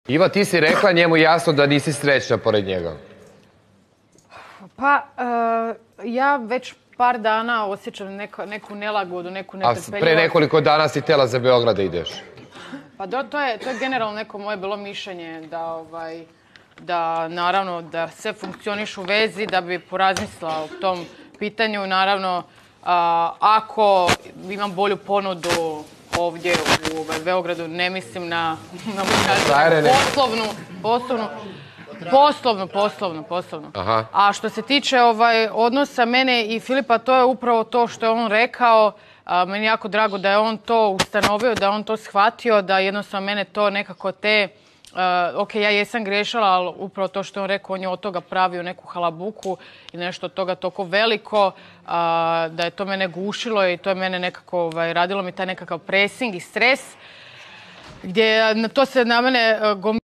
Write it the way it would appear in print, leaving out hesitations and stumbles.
Iva, ti si rekla njemu jasno da nisi srećna pored njega. Pa, ja već par dana osjećam neku nelagodu, neku netrpeljivost. A pre nekoliko dana si htjela za Beograd da ideš. Pa to je generalno neko moje bilo mišljenje da naravno da sve funkcioniš u vezi, da bi porazmislila o tom pitanju. Naravno, ako imam bolju ponudu ovdje u Beogradu, ne mislim na poslovnu. Aha. A što se tiče odnosa mene i Filipa, to je upravo to što je on rekao. Meni je jako drago da je on to ustanovio, da je on to shvatio, da jednostavno mene to nekako ok, ja jesam grešala, ali upravo to što je on rekao, on je od toga pravio neku halabuku i nešto od toga toliko veliko, da je to mene gušilo i to je mene nekako radilo mi taj nekakav pressing i stres, gdje to se na mene